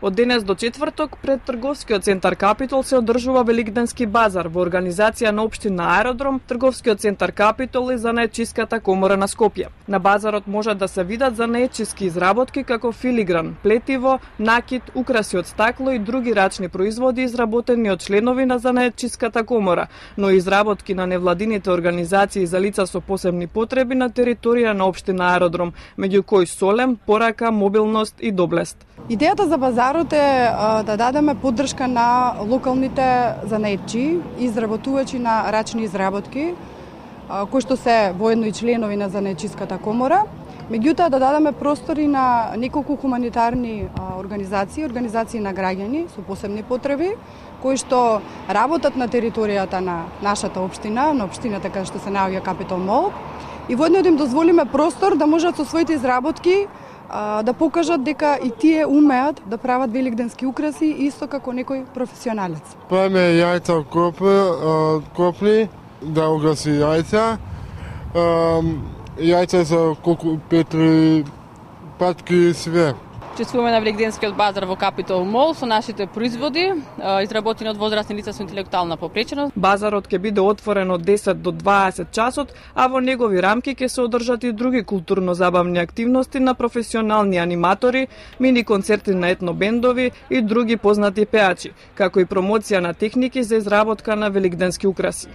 Од денес до четврток пред трговскиот центар Капитол се одржува Великденски базар во организација на општина Аеродром, трговскиот центар Капитол и занаетчиската комора на Скопје. На базарот можат да се видат занаетчиски изработки како филигран, плетиво, накит, украси од стакло и други рачни производи изработени од членови на занаетчиската комора, но и изработки на невладините организации за лица со посебни потреби на територија на општина Аеродром, меѓу кои солем, порака, мобилност и доблест. Идејата за базарот е да дадеме поддршка на локалните занаетчи, изработувачи на рачни изработки, кои што се воедно и членови на занаетчиската комора. Меѓутоа да дадеме простори на неколку хуманитарни организации на граѓани со посебни потреби, кои што работат на територијата на нашата општина, на општината каде што се наоѓа Капитол Мол, и воедно да им дозволиме простор да можат со своите изработки да покажат дека и тие умеат да прават великденски украси исто како некој професионалец. Правиме јајца копни, да угаси јајца. Јајца за колку петри, патки и све. Чествуваме на Великденскиот базар во Капитол Мол со нашите производи, изработени од возрастни лица со интелектуална попреченост. Базарот ќе биде отворен од 10 до 20 часот, а во негови рамки ќе се одржат и други културно-забавни активности на професионални аниматори, мини концерти на етнобендови и други познати пеачи, како и промоција на техники за изработка на великденски украси.